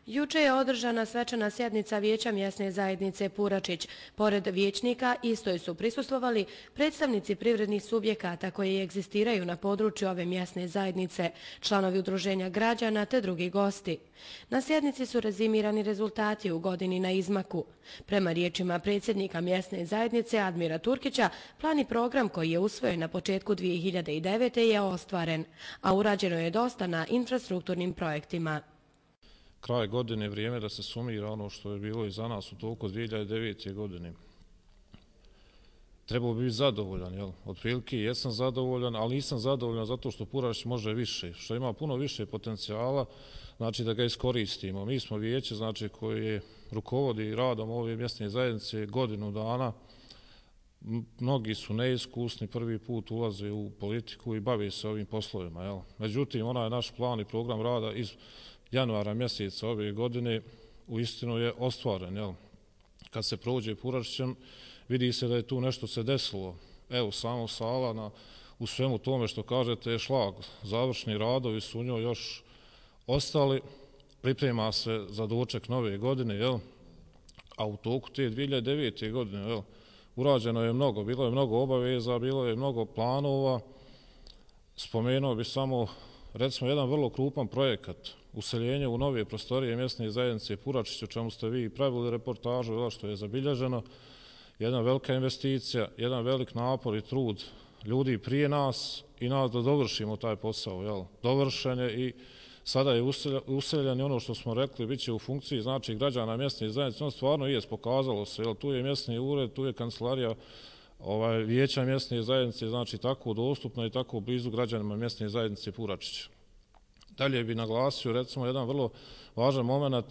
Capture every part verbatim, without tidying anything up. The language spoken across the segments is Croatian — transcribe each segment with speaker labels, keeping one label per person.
Speaker 1: Juče je održana svečana sjednica Vijeća mjesne zajednice Puračić. Pored vijećnika istoj su prisustvovali predstavnici privrednih subjekata koji egzistiraju na području ove mjesne zajednice, članovi udruženja građana te drugi gosti. Na sjednici su rezimirani rezultati u godini na izmaku. Prema riječima predsjednika mjesne zajednice Admira Turkića, plan i program koji je usvojen na početku dvije hiljade devete. je ostvaren, a urađeno je dosta na infrastrukturnim projektima.
Speaker 2: Kraj godine je vrijeme da se sumira ono što je bilo iza nas u toku dvije hiljade devete. godine. Trebao bi biti zadovoljan, jel? Otprilike jesam zadovoljan, ali nisam zadovoljan zato što Puračić može više, što ima puno više potencijala, znači da ga iskoristimo. Mi smo vijeće, znači koje rukovodi radom ove mjesne zajednice godinu dana. Mnogi su neiskusni, prvi put ulaze u politiku i bave se ovim poslovima, jel? Međutim, onaj naš plan i program rada iz januara mjeseca ove godine uistinu je ostvaren, jel? Kad se prođe Puračićem, vidi se da je tu nešto se desilo. Evo, samo sala na, u svemu tome što kažete je šlag. Završni radovi su u njoj još ostali, priprema se za doček nove godine, jel? A u toku te dvije hiljade devete. godine, jel? Urađeno je mnogo, bilo je mnogo obaveza, bilo je mnogo planova. Spomenuo bi samo, recimo, jedan vrlo krupan projekat, useljenje u nove prostorije mjesne zajednice Puračić, o čemu ste vi pravili reportažu, što je zabilježeno. Jedna velika investicija, jedan velik napor i trud ljudi prije nas i nas da dovršimo taj posao, jel? Dovršen je i sada je useljen i ono što smo rekli bit će u funkciji, znači, građana mjesne zajednice. On stvarno je pokazalo se, jel? Tu je mjesni ured, tu je kancelarija ovaj, Vijeća mjesne zajednice, znači tako dostupna i tako blizu građanima mjesne zajednice Puračić. Dalje bi naglasio, recimo, jedan vrlo važan moment,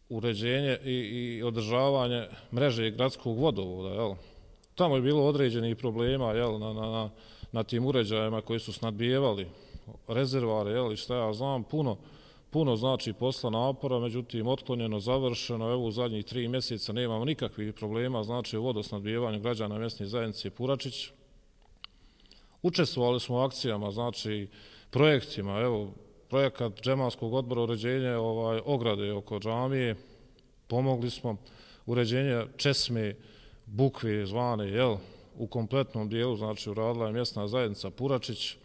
Speaker 2: uređenje i, i održavanje mreže gradskog vodovoda, jel? Tamo je bilo određenih problema, jel, na, na, na tim uređajima koji su snadbijevali rezervare, jel, i šta ja znam, puno, puno znači posla, napora, međutim otklonjeno, završeno. Evo u zadnjih tri mjeseca nemamo nikakvih problema, znači u vodosnadbijevanju građana mjesne zajednice Puračić. Učestvovali smo u akcijama, znači projektima, evo projekat džematskog odbora uređenja ovaj, ograde oko džamije, pomogli smo uređenje česme bukve zvane, jel, u kompletnom dijelu, znači uradila je mjesna zajednica Puračić.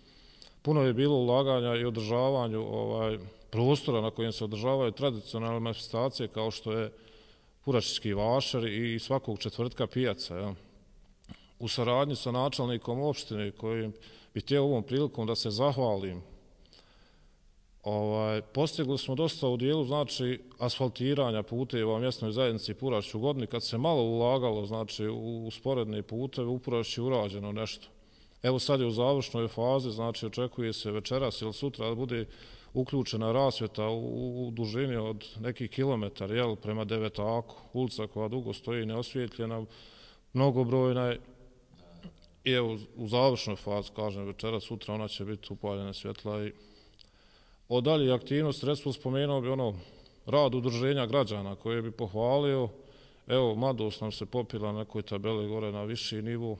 Speaker 2: Puno je bilo ulaganja i održavanju ovaj, prostora na kojem se održavaju tradicionalne manifestacije kao što je Puračićki vašar i svakog četvrtka pijaca, jel. U saradnji sa načelnikom opštine kojim bi htio ovom prilikom da se zahvalim, Ovaj, postigli smo dosta u dijelu, znači, asfaltiranja puteva u mjesnoj zajednici Puračić u godini. Kad se malo ulagalo, znači, u sporedne puteve, u Puračić je urađeno nešto. Evo sad je u završnoj fazi, znači, očekuje se večeras ili sutra da bude uključena rasvjeta u, u dužini od nekih kilometara, jel, prema Devetaku, ulica koja dugo stoji neosvjetljena, mnogobrojna je. I evo, u završnoj fazi, kažem, večeras, sutra ona će biti upaljena svjetla i od dalje aktivnosti, recimo spomenuo bi ono rad udruženja građana koje bi pohvalio. Evo, mladost nam se popila na nekoj tabeli gore na viši nivo.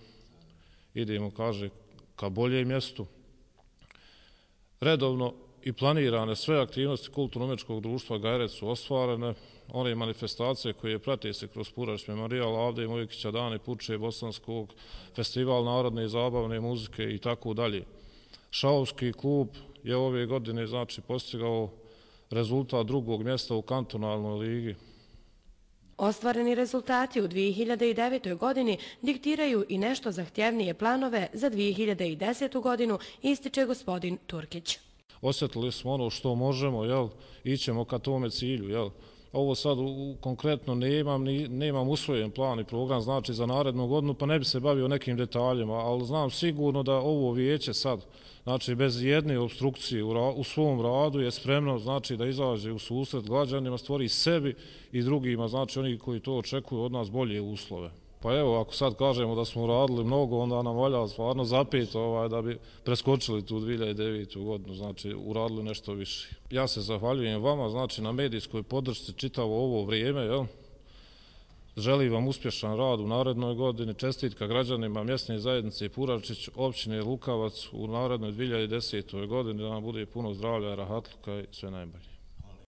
Speaker 2: Idemo, kaže, ka boljem mjestu. Redovno i planirane sve aktivnosti kulturno-umjetničkog društva Gajrec su ostvarene. One manifestacije koje prate se kroz Puračić memorijal Avde Mojkića, Dani Puče, Bosanskog, festival narodne i zabavne muzike i tako dalje. Šahovski klub je ove godine, znači, postigao rezultat drugog mjesta u kantonalnoj ligi.
Speaker 1: Ostvareni rezultati u dvije hiljade devete. godini diktiraju i nešto zahtjevnije planove za dvije hiljade desetu. godinu, ističe gospodin Turkić.
Speaker 2: Osjetili smo ono što možemo, jel, ićemo ka tome cilju, jel. Ovo sad u, konkretno nemam, ni, nemam usvojen plan i program, znači, za narednu godinu, pa ne bi se bavio nekim detaljima, ali znam sigurno da ovo vijeće sad, znači, bez jedne obstrukcije u, ra, u svom radu je spremno, znači, da izađe u susret građanima, stvori sebi i drugima, znači, oni koji to očekuju od nas bolje uslove. Pa evo, ako sad kažemo da smo uradili mnogo, onda nam valja stvarno zapet ovaj, da bi preskočili tu dvije hiljade devetu. godinu, znači uradili nešto više. Ja se zahvaljujem vama, znači, na medijskoj podršci čitavo ovo vrijeme, jel? Želim vam uspješan rad u narednoj godini, čestitka građanima mjesne zajednice Puračić, općine Lukavac u narednoj dvije hiljade desetoj. godini, da nam bude puno zdravlja, rahatluka i sve najbolje.